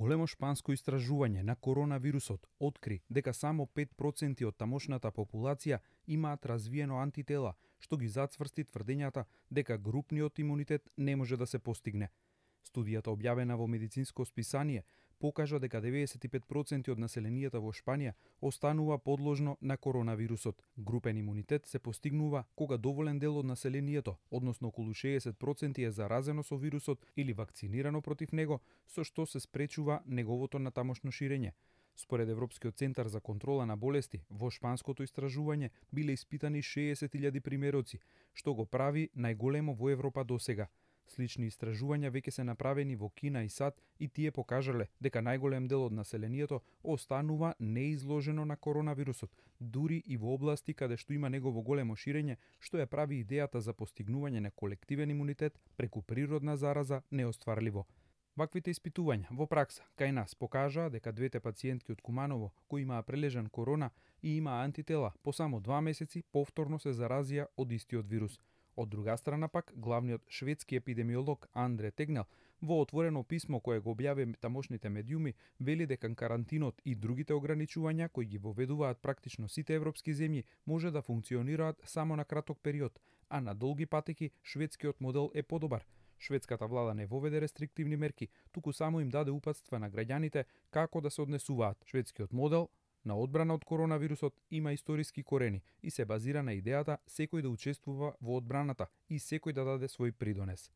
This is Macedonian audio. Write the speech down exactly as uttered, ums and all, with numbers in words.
Големо шпанско истражување на коронавирусот откри дека само пет проценти од тамошната популација имаат развиено антитела, што ги зацврсти тврдењата дека групниот имунитет не може да се постигне. Студијата, објавена во медицинско списание, покажа дека деветдесет и пет проценти од населението во Шпанија останува подложно на коронавирусот. Групен имунитет се постигнува кога доволен дел од населението, односно околу шеесет проценти е заразено со вирусот или вакцинирано против него, со што се спречува неговото натамошно ширење. Според Европскиот центар за контрола на болести, во шпанското истражување биле испитани шеесет илјади примероци, што го прави најголемо во Европа досега. Слични истражувања веќе се направени во Кина и САД и тие покажале дека најголем дел од населението останува неизложено на коронавирусот, дури и во области каде што има негово големо ширење, што ја прави идејата за постигнување на колективен имунитет преку природна зараза неостварливо. Ваквите испитувања во пракса кај нас покажаа дека двете пациентки од Куманово кои имаа прележан корона и имаа антитела по само два месеци повторно се заразија од истиот вирус. Од друга страна пак, главниот шведски епидемиолог Андре Тегнел во отворено писмо кое го објави тамошните медиуми вели дека карантинот и другите ограничувања кои ги воведуваат практично сите европски земји може да функционираат само на краток период, а на долги патеки шведскиот модел е подобар. Шведската влада не воведе рестриктивни мерки, туку само им даде упатства на граѓаните како да се однесуваат. Шведскиот модел на одбрана од коронавирусот има историски корени и се базира на идејата секој да учествува во одбраната и секој да даде свој придонес.